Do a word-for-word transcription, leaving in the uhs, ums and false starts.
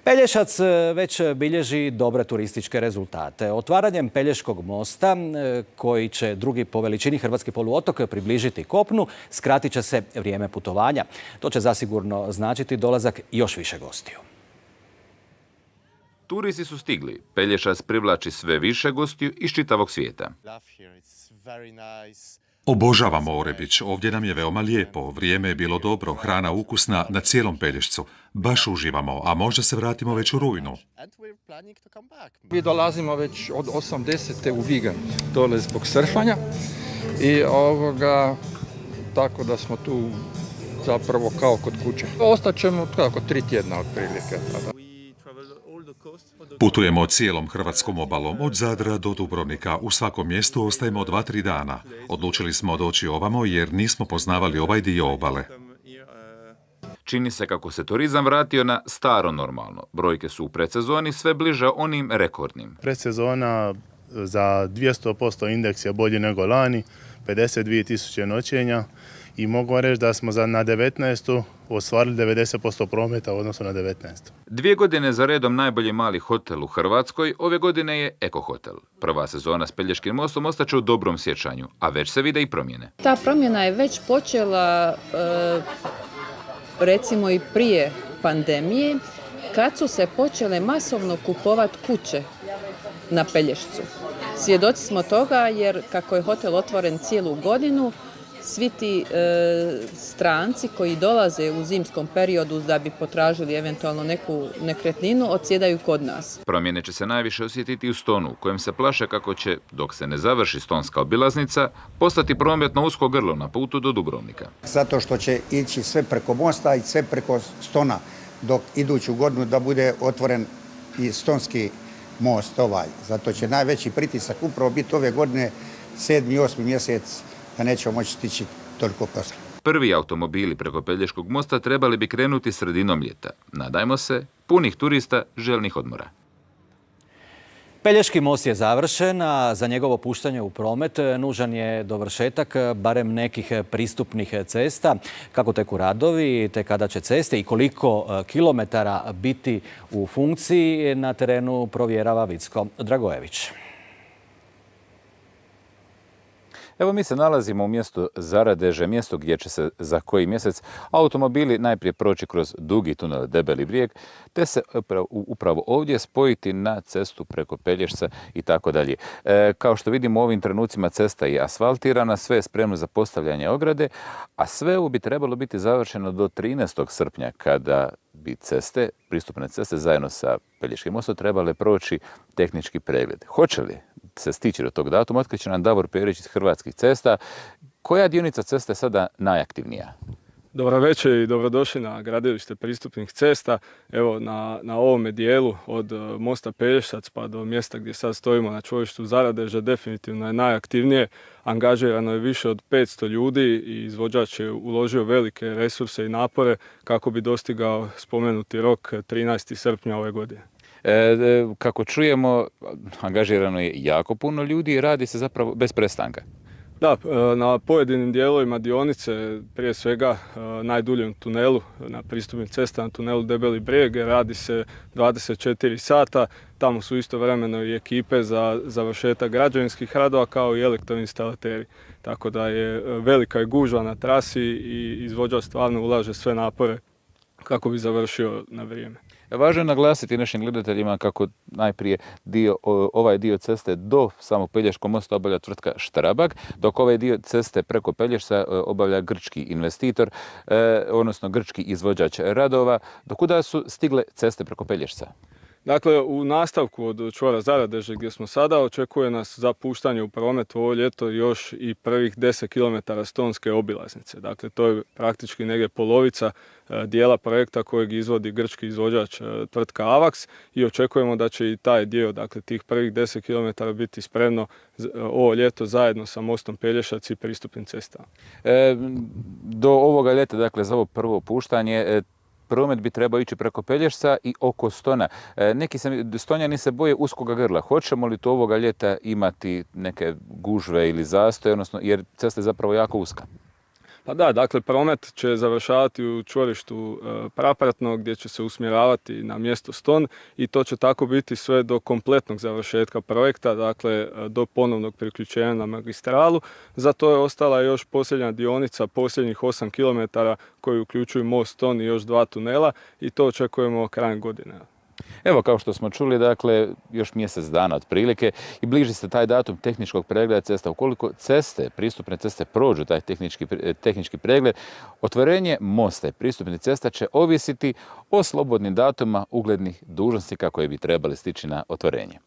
Pelješac već bilježi dobre turističke rezultate. Otvaranjem Pelješkog mosta, koji će drugi po veličini hrvatski poluotok približiti kopnu, skratit će se vrijeme putovanja. To će zasigurno značiti dolazak još više gostiju. Turisti su stigli. Pelješac privlači sve više gostiju iz čitavog svijeta. Obožavamo Orebić, ovdje nam je veoma lijepo, vrijeme je bilo dobro, hrana ukusna na cijelom Pelješcu. Baš uživamo, a možda se vratimo već u rujnu. Mi dolazimo već od osamdesete u vikend dole zbog surfanja i ovoga, tako da smo tu zapravo kao kod kuće. Ostaćemo kako tri tjedna otprilike. Putujemo cijelom hrvatskom obalom, od Zadra do Dubrovnika. U svakom mjestu ostajemo dva, tri dana. Odlučili smo doći ovamo jer nismo poznavali ovaj dio obale. Čini se kako se turizam vratio na staro normalno. Brojke su u predsezoni sve bliže onim rekordnim. Predsezona za dvjesto posto indeks je bolji nego lani, pedeset dvije tisuće noćenja i mogu reći da smo za na devetnaestu ostvarili devedeset posto prometa u odnosu na devetnaestu. Dvije godine za redom najbolji mali hotel u Hrvatskoj, ove godine je Eko Hotel. Prva sezona s Pelješkim mostom ostaće u dobrom sjećanju, a već se vide i promjene. Ta promjena je već počela e, recimo i prije pandemije, kad su se počele masovno kupovati kuće na Pelješcu. Svjedoci smo toga jer kako je hotel otvoren cijelu godinu, svi ti e, stranci koji dolaze u zimskom periodu da bi potražili eventualno neku nekretninu, odsjedaju kod nas. Promjene će se najviše osjetiti u Stonu, u kojem se plaše kako će, dok se ne završi stonska obilaznica, postati prometno usko grlo na putu do Dubrovnika. Zato što će ići sve preko mosta i sve preko Stona, dok iduću godinu da bude otvoren i stonski most ovaj. Zato će najveći pritisak upravo biti ove godine, sedmi i osmi mjesec, da nećemo moći stići toliko posla. Prvi automobili preko Pelješkog mosta trebali bi krenuti sredinom ljeta. Nadajmo se, punih turista željnih odmora. Pelješki most je završen, a za njegovo puštanje u promet nužan je dovršetak barem nekih pristupnih cesta. Kako teku radovi, te kada će ceste i koliko kilometara biti u funkciji, na terenu provjerava Vicko Dragojević. Evo mi se nalazimo u mjestu Zaradeže, mjesto gdje će se za koji mjesec automobili najprije proći kroz dugi tunel Debeli brijeg, te se upravo ovdje spojiti na cestu preko Pelješca i tako dalje. Kao što vidimo u ovim trenucima cesta je asfaltirana, sve je spremno za postavljanje ograde, a sve ovo bi trebalo biti završeno do trinaestog srpnja kada bi ceste, pristupne ceste zajedno sa Pelješkim mostom trebale proći tehnički pregled. Hoće li se stići do tog datuma, otkriće nam Davor Perić iz Hrvatskih cesta. Koja dionica ceste je sada najaktivnija? Dobro večer i dobrodošli na gradilište pristupnih cesta. Evo na, na ovome dijelu od mosta Pelješac pa do mjesta gdje sad stojimo na čvorištu Zaradeže definitivno je najaktivnije. Angažirano je više od petsto ljudi i izvođač je uložio velike resurse i napore kako bi dostigao spomenuti rok trinaesti srpnja ove godine. E, kako čujemo, angažirano je jako puno ljudi i radi se zapravo bez prestanka. Da, na pojedinim dijelovima dionice, prije svega najduljem tunelu, na pristupnim cestama, tunelu Debeli brijeg, radi se dvadeset četiri sata. Tamo su istovremeno i ekipe za završetak građevinskih radova kao i elektroinstalateri. Tako da je velika je gužva na trasi i izvođač stvarno ulaže sve napore kako bi završio na vrijeme. Važno je naglasiti našim gledateljima kako najprije dio, ovaj dio ceste do samog Pelješkog mosta obavlja tvrtka Štrabag, dok ovaj dio ceste preko Pelješca obavlja grčki investitor, eh, odnosno grčki izvođač radova. Do kuda su stigle ceste preko Pelješca? Dakle, u nastavku od čvora Zaradeže gdje smo sada očekuje nas za puštanje u promet ovo ljeto još i prvih deset kilometara stonske obilaznice. Dakle, to je praktički negdje polovica dijela projekta kojeg izvodi grčki izvođač tvrtka Avax i očekujemo da će i taj dio, dakle tih prvih deset kilometara biti spremno ovo ljeto zajedno sa mostom Pelješac i pristupnim cestama. E, do ovoga ljeta, dakle za ovo prvo puštanje, promet bi trebao ići preko Pelješca i oko Stona. Neki se, Stonjani se boje uskoga grla. Hoćemo li to ovoga ljeta imati neke gužve ili zastoje, odnosno jer cesta je zapravo jako uska? Pa da, dakle, promet će završavati u čvorištu Prapratno gdje će se usmjeravati na mjesto Ston i to će tako biti sve do kompletnog završetka projekta, dakle do ponovnog priključenja na magistralu. Za to je ostala još posljednja dionica, posljednjih osam kilometara koji uključuju most Ston i još dva tunela i to očekujemo krajem godine. Evo, kao što smo čuli, dakle, još mjesec dana otprilike i bliži se taj datum tehničkog pregleda cesta. Ukoliko ceste, pristupne ceste prođu taj tehnički, tehnički pregled, otvorenje mosta i pristupnih cesta će ovisiti o slobodnim datuma uglednih dužnosnika koji bi trebali stići na otvorenje.